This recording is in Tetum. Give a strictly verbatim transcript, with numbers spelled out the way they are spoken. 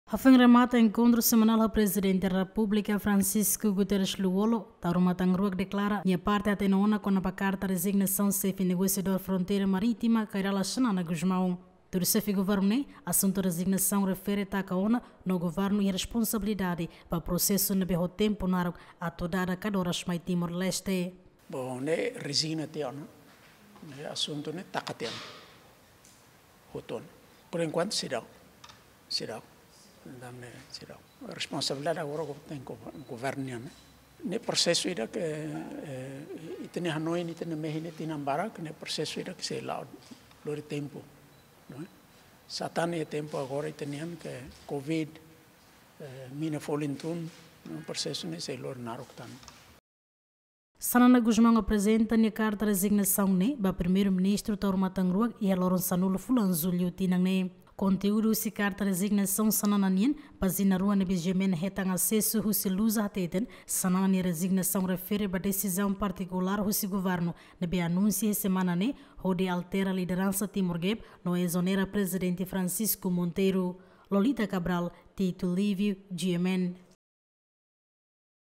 Hafoin remata enkontru semanál ho Prezidente Repúblika Francisco Guterres Lú-Olo, Taur Matan Ruak deklara nia parte hatene ona kona-ba karta rezignasaun xefe negosiadór fronteira marítima Kay Rala Xanana Gusmão. Tuir xefe governu ne'e, asuntu rezignasaun refere taka ona no governu iha responsabilidade ba prosesu ne'ebé ho tempu naruk atu dada kadoras mai Timor-Leste. Bom, ne'e rezigna tiha ona, ne'e asuntu ne'e taka tiha ona. Hotu ona. Por enkuantu seidauk, seidauk. Entaun ne'e seidauk. Responsabilidade agora governu nian, ne'e. Ne'e prosesu ida ke, eh, ita-nia hanoin, ita-nia mehi ne'e tinan barak, ne'e prosesu ida ke sei la'o lori tempu, não é? Sá tan iha tempu agora ita-nian ke covid, eh, mina folin tun, ne'e prosesu ne'e sei lori naruk tan. Xanana Gusmão aprezenta nia karta rezignasaun ne'e ba Primeiru-Ministru Taur Matan Ruak iha loron sanulu fulan Jullu tinan ne'e. Konteúdu husi karta rezignasaun Xanana nian, pájina rua ne'ebé GMN hetan asesu husi Lusa hateten, Xanana nia rezignasaun refere ba desizaun partikulár husi governu ne'ebé anunsia iha semana ne'e hodi altera lideransa Timor Gap no ezonera Prezidente Francisco Monteiro. Lolita Cabral, Tito Lívio, GMN.